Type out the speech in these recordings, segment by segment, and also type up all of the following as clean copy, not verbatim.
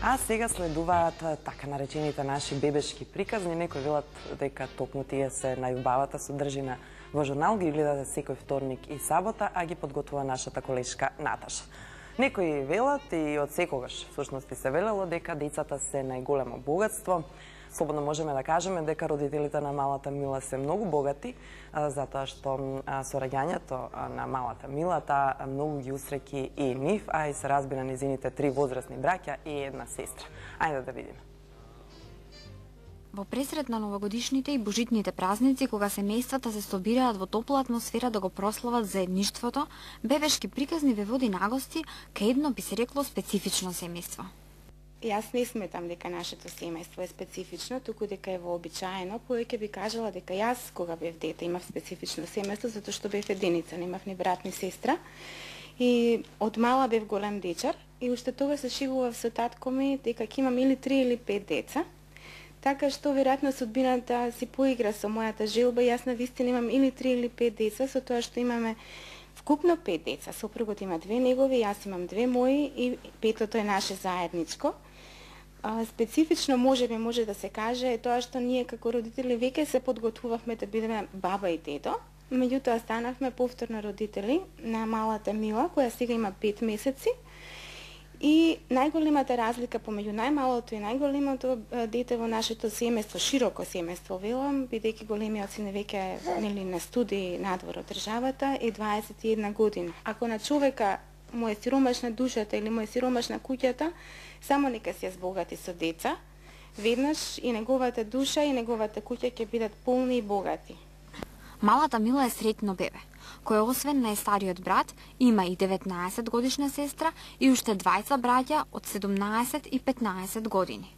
А сега следуваат така наречените наши бебешки приказни. Некои велат дека токму тие се најубавата содржина во журнал, ги гледате секој вторник и сабота, а ги подготвува нашата колешка Наташа. Некои велат и од секогаш всушност се велело дека децата се најголемо богатство. Слободно можеме да кажеме дека родителите на малата Мила се многу богати, затоа што со раѓањето на малата Мила таа многу ги усреќи и нив, а и се разбира низините 3 возрастни браќа и една сестра. Ајде да видиме. Во пресред на новогодишните и божитните празници, кога семејствата се собираат во топла атмосфера да го прослават заедништвото, бебешки приказни ве води нагости кај едно би се рекло специфично семејство. Јас не сметам дека нашето семејство е специфично, туку дека е вообичаено. Повеќе би кажала дека јас, кога бев дете, имав специфично семејство, затоа што бев единица, немав ни брат ни сестра. И од мала бев голем дечар и уште тогаш се шегував со татко ми дека ќе имам или 3 или 5 деца. Така што веројатно судбината си поигра со мојата желба. Јас навистина имам или 3 или 5 деца, со тоа што имаме вкупно 5 деца. Сопругот има 2 негови, јас имам 2 мои и 5-тото е наше заедничко. Специфично може да се каже е тоа што ние како родители веќе се подготвувавме да бидеме баба и дедо. Меѓутоа станавме повторно родители на малата Мила, која сега има 5 месеци. И најголемата разлика помеѓу најмалото и најголемото дете во нашето семејство, широко семејство велам, бидејќи големиот син веќе нели на студии надвор од државата, е 21 година. Ако на човека му е сиромашна душата или му е сиромашна куќата, само нека се збогати со деца, веднаш и неговата душа и неговата куќа ќе бидат полни и богати. Малата Мила е среќно бебе, кој освен најстариот брат, има и 19 годишна сестра и уште 20 браќа од 17 и 15 години.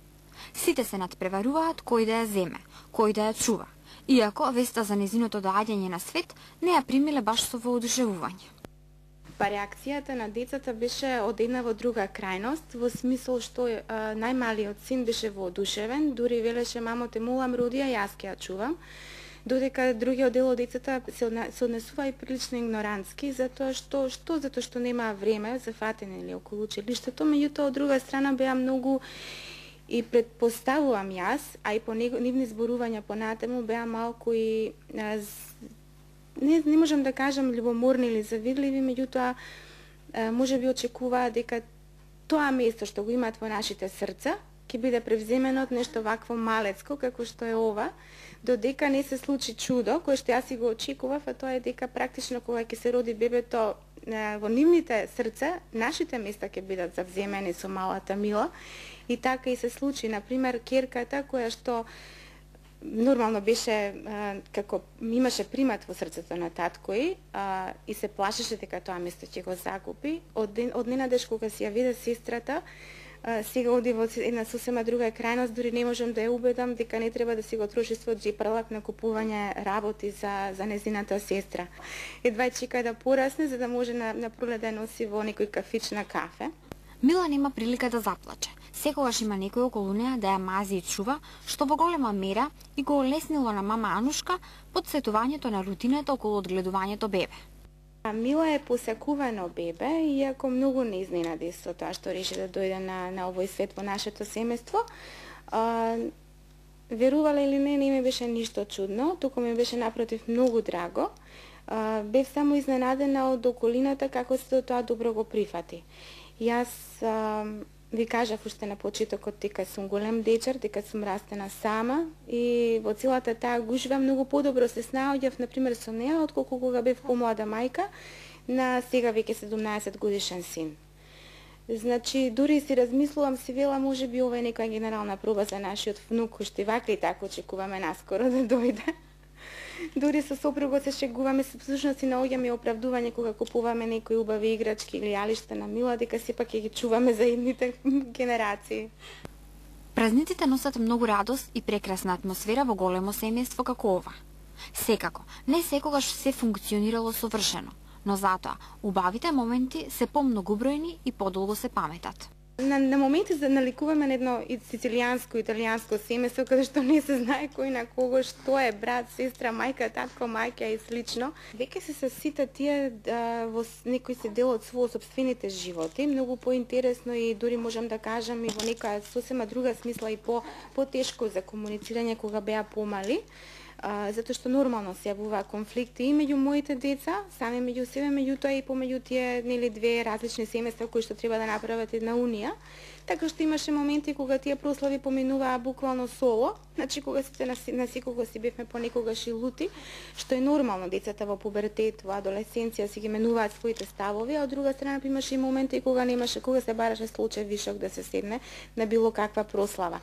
Сите се надпреваруваат кој да ја земе, кој да ја чува, иако веста за незиното доаѓање на свет не ја примиле баш со воодушевување. Па реакцијата на децата беше од една во друга крајност, во смисол што најмалиот син беше воодушевен, дури велеше мамо те молам роди, јас ќе ја чувам, додека другиот дел од децата се однесува и прилично игнорантски, затоа што нема време за фатене или околу училиштето, меѓутоа од друга страна беа многу и предпоставувам јас, а и по нивни зборувања понатаму беа малку и не можам да кажам љубоморни или завидливи, меѓутоа можеби очекуваа дека тоа место што го имаат во нашите срца ќе биде превземено од нешто вакво малецко како што е ова, додека не се случи чудо, кое што јас си го очекував, а тоа е дека практично кога ќе се роди бебето во нивните срца, нашите места ќе бидат завземени со малата Мила. И така и се случи. Например, керката која што нормално беше како имаше примат во срцето на татко и се плашеше дека тоа место ќе го загуби. Од ненадеж кога си ја виде сестрата, сега оди во една сосема друга крајност, дури не можам да ја убедам дека не треба да си го троши својот џепарлак на купување работи за незината сестра. Едва чека да порасне за да може на пролет да носи во некој кафич на кафе. Мила нема прилика да заплаче. Секогаш има некој околу неа да ја мази и чува, што во голема мера и го олеснило на мама Анушка подсетувањето на рутината околу одгледувањето бебе. Мила е посакувано бебе, иако многу не изненади со тоа што реши да дојде на овој свет во нашето семејство. Верувала или не ми беше ништо чудно, туку ми беше напротив многу драго. Бев само изненадена од околината како се тоа добро го прифати. Јас ви кажав уште на почетокот дека сум голем дечар, дека сум растена сама и во целата таа гужва многу подобро се снаоѓав, например, со неа, отколку кога бев помлада мајка на сега веќе 17 годишен син. Значи, дури си размислувам, си вела, можеби ова е некоја генерална проба за нашиот внук, уште вака и така очекуваме наскоро да дојде. Дури со сопругот се шегуваме, всушност и наоѓаме оправдување кога купуваме некои убави играчки или јалишта на Мила, дека сепак ќе ги чуваме за идните генерации. Празниците носат многу радост и прекрасна атмосфера во големо семејство како ова. Секако, не секогаш се функционирало совршено, но затоа убавите моменти се помногубројни и подолго се паметат. На моменти наликуваме на едно сицилијанско, италијанско семејство, каде што не се знае кој на кого, што е брат, сестра, мајка, татко, мајка и слично. Веќе се сите тие во некој се дел од својот сопствените животи, многу поинтересно и дури можам да кажам и во некоја сосема друга смисла и потешко за комуницирање кога беа помали. Затоа што нормално се јавуваат конфликти и меѓу моите деца, сами меѓу себе, меѓутоа и помеѓу тие две различни семејства кои што треба да направат една унија. Така што имаше моменти кога тие прослави поминуваа буквално соло, значи кога сите на секого си бевме понекогаш и лути, што е нормално, децата во пубертет, во адолесценција си ги менуваат своите ставови, а од друга страна имаше и моменти кога кога се бараше случај вишок да се седне на било каква прослава.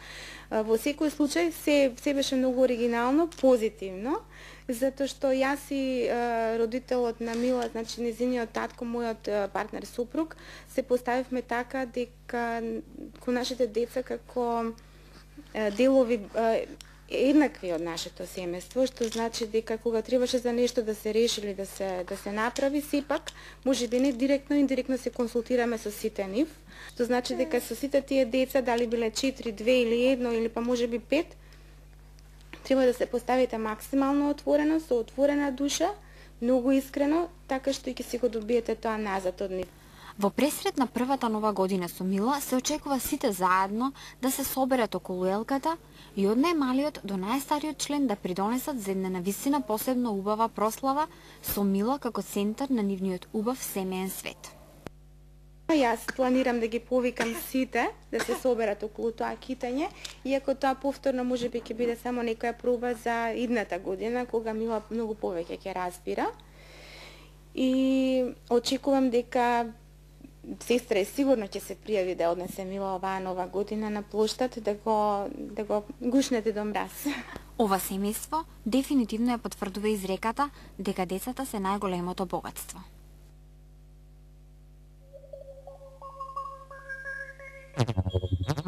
Во секој случај се беше многу оригинално, позитивно, затоа што јас и родителот на Мила, значи незиниот татко, мојот партнер супруг, се поставивме така дека кон нашите деца како делови еднакви од нашето семејство, што значи дека кога требаше за нешто да се реши или да се направи, сепак можеби не директно, индиректно се консултираме со сите нив, што значи дека со сите тие деца, дали биле 4, 2 или 1 или па можеби 5, треба да се поставите максимално отворено, со отворена душа, многу искрено, така што и ќе си го добиете тоа назад од нив. Во пресред на првата нова година со Мила се очекува сите заедно да се соберат околу елката и од најмалиот до најстариот член да придонесат за една навистина посебно убава прослава со Мила како центар на нивниот убав семеен свет. Јас планирам да ги повикам сите да се соберат околу тоа китање, иако тоа повторно можеби ќе биде само некоја проба за идната година, кога Мила многу повеќе ќе разбира. И очекувам дека сестра е сигурно ќе се пријави да однесе Мила оваа нова година на плоштад, да го гушнете до мраз. Ова семејство дефинитивно ја потврдува изреката дека децата се најголемото богатство. Thank you.